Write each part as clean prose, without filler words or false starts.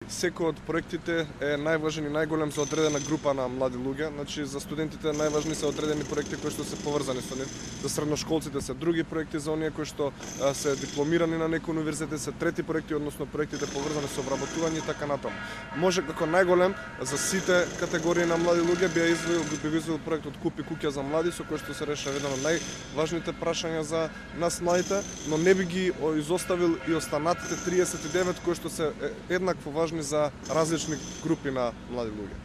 секој од проектите е најважен и најголем за одредена група на млади луѓе. Значи за студентите најважни се одредени проекти кои што се поврзани со нив. За средношколците се други проекти, за оние кои што се дипломирани на некој универзитет се трети проекти, односно проектите поврзани со вработување и така натаму. Може како најголем за сите категории на млади луѓе би извел проектот Купи куќа за млади, со кој што се решава едно од најважните прашања за нас младите, но не би ги изоставил и останатите 39 кои што се еднакво важни за различни групи на млади луѓе.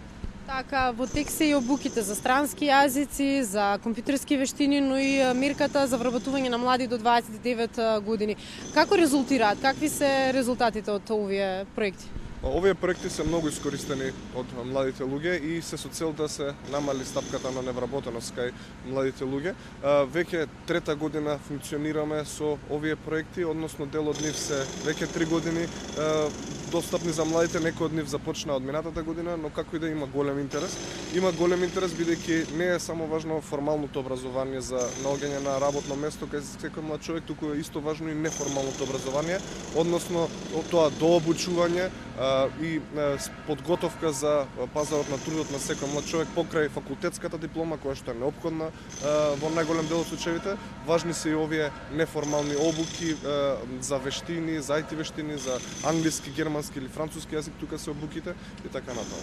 Така, во тек се и обуките за странски јазици, за компјутерски вештини, но и мерката за вработување на млади до 29 години. Како резултираат? Какви се резултатите од овие проекти? Овие проекти се многу искористени од младите луѓе и се со цел да се намали стапката на невработеност кај младите луѓе. Веќе трета година функционираме со овие проекти, односно дел од нив се веќе 3 години достапни за младите, некои од нив започнаа од минатата година, но како и да има голем интерес. Има голем интерес бидејќи не е само важно формалното образование за наоѓање на работно место кај секој млад човек, туку е исто важно и неформалното образование, односно тоа дообучување и подготовка за пазарот на трудот на секој млад човек покрај факултетската диплома која што е неопходна во најголем дел од случаите. Важни се и овие неформални обуки за вештини, за IT вештини, за англиски, германски или француски јазик, тука се обуките и така натаму.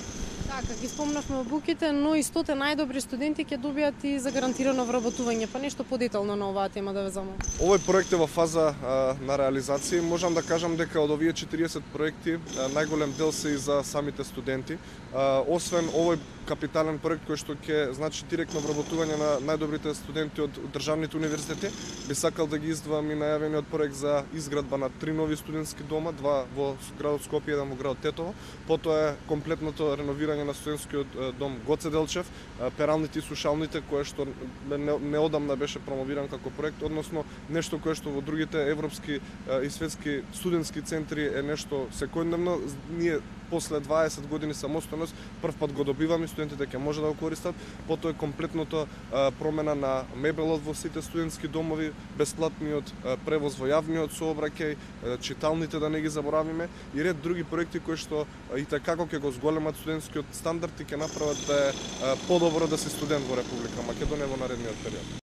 Така, ги спомнавме обуките, но и 100 најдобри студенти ќе добијат и за гарантирано вработување. Па нешто подетално на оваа тема да ве замолам. Овој проект е во фаза на реализација. Можам да кажам дека од овие 40 проекти најголем дел се и за самите студенти. Освен овој капитален проект кој што ќе значи директно вработување на најдобрите студенти од државните универзитети, би сакал да ги издвоам и најавениот проект за изградба на 3 нови студентски дома, 2 во градот Скопје, 1 во градот Тетово. Потоа е комплетното реновирање на студентскиот дом Гоце Делчев, пералните и сушалните, кое што неодамна беше промовиран како проект, односно нешто кое што во другите европски и светски студентски центри е нешто секојдневно. Ние после 20 години самостојност прв пат го добиваме, студентите ќе може да го користат. Потоа е комплетното промена на мебелот во сите студентски домови, бесплатниот превоз во јавниот сообраќај, читалните да не ги заборавиме и ред други проекти кои што и така ќе го зголемат студентскиот стандард и ќе направат да е подобро да си студент во Република Македонија во наредниот период.